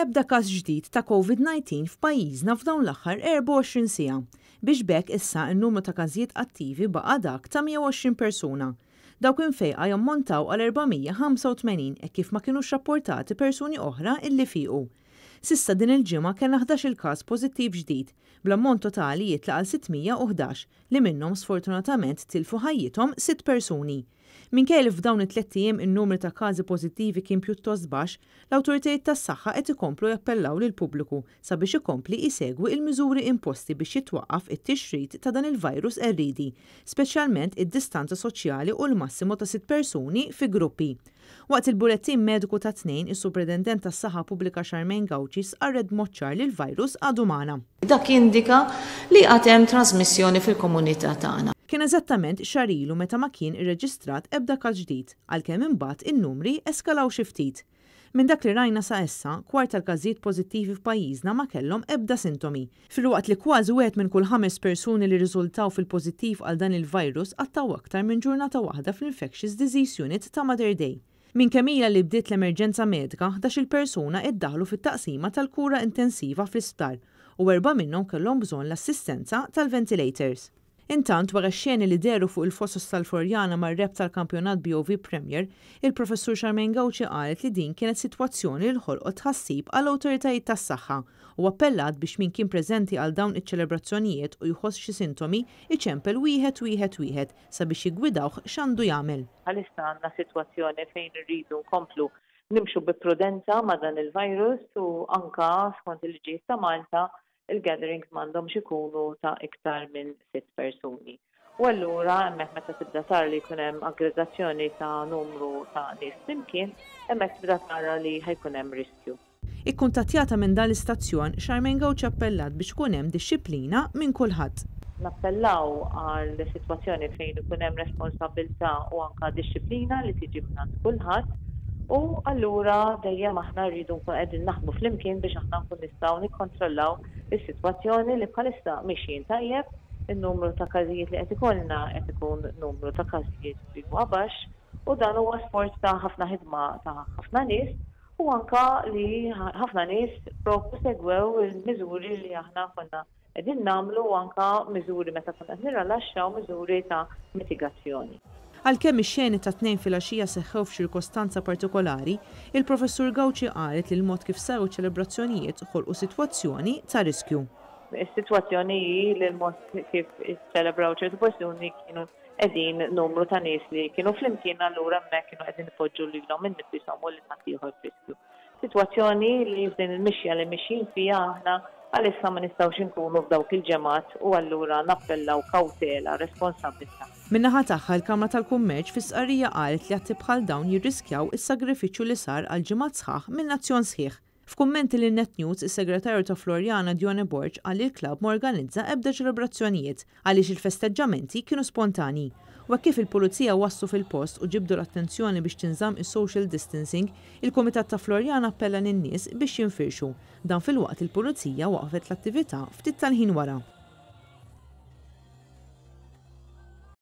Ebda każ ġdid ta' Covid-19 f'pajjiżna f'dawn l-aħħar 24 siegħa, biex b'hekk issa n-numru ta' każijiet attivi baqa' dak ta' 120 persuna. Dawk imfejqa jammontaw għal 485 hekk kif ma kinux rapportati persuni oħra illi fiequ. S'issa din il-ġimgħa kellna 11-il każ pożittiv ġdid, bl-ammont totali jitla' għal 611 li minnhom sfortunatament tilfu ħajjithom sitt persuni. Minkejja li f'dawn it-tlett ijiem in-numri ta' każi pożittivi kien pjuttost baxx, l-awtoritajiet tas-saħħa qed ikomplu jappellaw lill-pubbliku sabiex ikompli jsegwi l-miżuri imposti biex jitwaqqaf it-tixrid ta' dan il-virus qerriedi, speċjalment id-distanza soċjali u l-massimu ta' sitt persuni fi gruppi. Waqt il-bulettin mediku tat-Tnejn, is-Supretendent tas-Saħħa Pubblika Charmaine Gauci stqarret b'mod ċar li l-virus għadu magħna. Dak jindika li għad hemm trażmissjoni fil-komunità tagħna. Kien eżattament xahar ilu meta ma kien irreġistrat ebda każ ġdid, għalkemm imbagħad in-numri eskalaw xi ftit. Minn dak li rajna sa issa, kwart tal-każijiet pożittivi f'pajjiżna ma kellhom ebda sintomi, filwaqt li kważi wieħed minn kull ħames persuni li rriżultaw fil-pożittiv għal dan il-virus qattgħu aktar minn ġurnata waħda fl-Infectious Disease Unit ta' Mater Dei. Minn kemm ilha li bdiet l-emerġenza medika, ħdax-il persuna iddaħħlu fit-taqsima tal-kura intensiva fl-isptar u erbgħa minnhom kellhom bżonn l-assistenza tal-ventilators. Intant, wara x-xeni li dehru fuq il-fosos tal-Floriana mar-rebħ tal-kampjonat BOV Premier, il-Professur Charmaine Gauci qalet li din kienet sitwazzjoni li ħolqot tħassib għall-awtoritajiet tas-saħħa u appellat biex min kien preżenti għal dawn iċ-ċelebrazzjonijiet u jħoss xi sintomi iċempel wieħed wieħed wieħed sabiex jiggwidawh x'għandu jagħmel. Bħalissa għandna sitwazzjoni fejn irridu nkomplu nimxu bi prudenza ma' dan il-virus u anka skont il-liġijiet ta' Malta il-gatherings m'għandhomx ikunu ta' iktar minn sitt persuni. U allura hemmhekk meta tibda tara li jkun hemm aggregazzjoni ta' numru ta' nies flimkien, hemmhekk tibda tara li ħa jkun hemm riskju. Ikkuntattjata minn dan l-istazzjon, Charmaine Gauci appellat biex ikun hemm dixxiplina minn kulħadd. Nappellaw għal sitwazzjoni fejn ikun hemm responsabbiltà u anke dixxiplina li tiġi mingħand kulħadd u allura dejjem aħna rridu nkunu qegħdin naħdmu flimkien biex aħna nkun nistgħu nikkontrollaw is-sitwazzjoni li bħalissa mixjin tajjeb, in-numru ta' każijiet li qed ikollna qed ikun numru ta' każijiet li huwa baxx u dan huwa sforz ta' ħafna ħidma ta' ħafna nies u anke li ħafna nies propju segwew il-miżuri li aħna konna Qegħdin nagħmlu anke miżuri meta konna qed nirrilaxxaw miżuri ta' mitigazzjoni. Għalkemm ix-xeni tat-Tnejn filgħaxija seħħew f'ċirkostanza partikolari, il-Professur Gauci qalet li l-mod kif saru ċ-ċelebrazzjonijiet ħolqu sitwazzjoni ta' riskju. Is-sitwazzjoni hi li l-mod kif iċċelebraw ċertu persuni kienu qegħdin numru ta' nies li kienu flimkien allura hemmhekk kienu qegħdin ipoġġu lilhom innifishom u lil ħaddieħor f'riskju. Sitwazzjoni li f'din il-mixja li mixjin fiha aħna għalissa ma nistgħux inkunu f'dawk il-ġemgħat u allura nappellaw kawtela, responsabbiltà. Min-naħa tagħha, il-Kamra tal-Kummerċ fi stqarrija qalet li atti bħal dawn jirriskjaw is-sagrifiċċju li sar għal ġimgħat sħaħ minn nazzjon sħiħ. F'kummenti lil Net News, is-Segretarju ta' Floriana Dione Borg qal li l-klabb ma organizza ebda ċelebrazzjonijiet għaliex il-festeġġamenti kienu spontanji. U hekk kif il-Pulizija waslu fil-post u ġibdu l-attenzjoni biex tinżamm is-social distancing, il-Kumitat ta' Floriana appella lin-nies biex jinfirxu. Dan filwaqt li l-Pulizija waqfet l-attività ftit tal-ħin wara.